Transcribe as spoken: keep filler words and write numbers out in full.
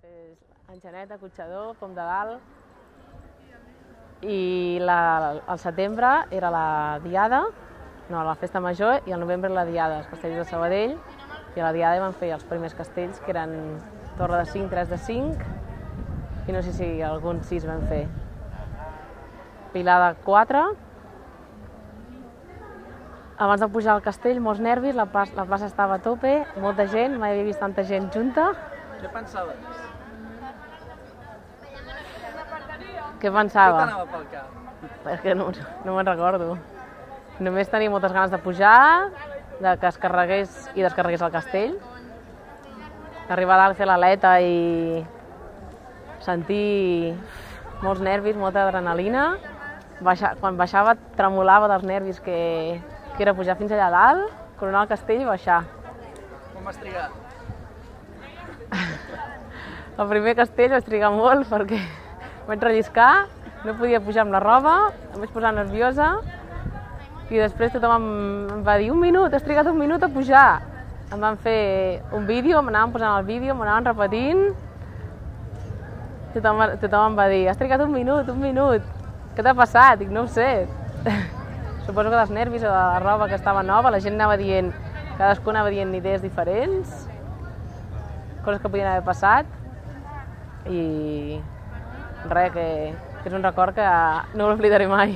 fer enxaneta, cotxador, pom de dalt. I la, el setembre era la diada, no, la festa major, i el novembre la diada, els castells de Sabadell. I a la diada van fer els primers castells, que eren Torre de cinc, tres de cinc, i no sé si alguns sis van fer. Pilar de quatre. Abans de pujar al castell, molts nervis, la plaça, la plaça estava a tope, molta gent, mai havia vist tanta gent junta. Què pensaves? Què pensava? Què t'anava pel cap? És que no, no me'n recordo. Només tenia moltes ganes de pujar, de que es carregués i descarregués el castell. Arribar a dalt, fer l'aleta i sentir molts nervis, molta adrenalina. Baixa, quan baixava tremolava dels nervis que, que era pujar fins allà dalt, coronar el castell i baixar. Com vas trigar? El primer castell vaig trigar molt perquè vaig relliscar, no podia pujar amb la roba, em vaig posar nerviosa i després tothom em va dir un minut, has trigat un minut a pujar. Em van fer un vídeo, m'anaven posant el vídeo, m'anaven repetint. Tothom, tothom em va dir, has trigat un minut, un minut. Què t'ha passat? Dic, no ho sé. Suposo que dels nervis o de la roba que estava nova, la gent anava dient, cadascú anava dient idees diferents, coses que podien haver passat. I res, que, que és un record que no l'oblidaré mai.